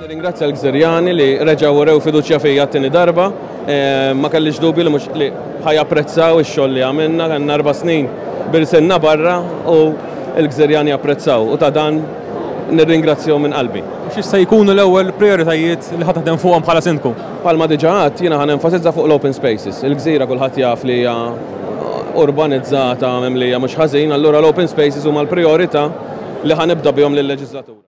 Nirringrazzja l-Gżirjani li reġgħu urew fiduċja fija t-tieni darba. Ma kellix dubju li mhux li ħa japprezzaw ix-xogħol li għamilna, kellna 4 snin b'irsilna barra u l-Gżirjani apprezzaw u ta' dan nirringrazzjahom minn qalbi. X'se jkunu l-ewwel prijoritajiet li ħa taħdem fuqhom bħala sindku? Bħalma diġà għedt, jiena ħa nenfasizza fuq l-open spaces. Il-gżira kulħadd jaf li hija urbanizzata, mimlija mhux ħażin, allura l-open spaces huma l-prijorità li ħa nibda bihom lil-leġislatura.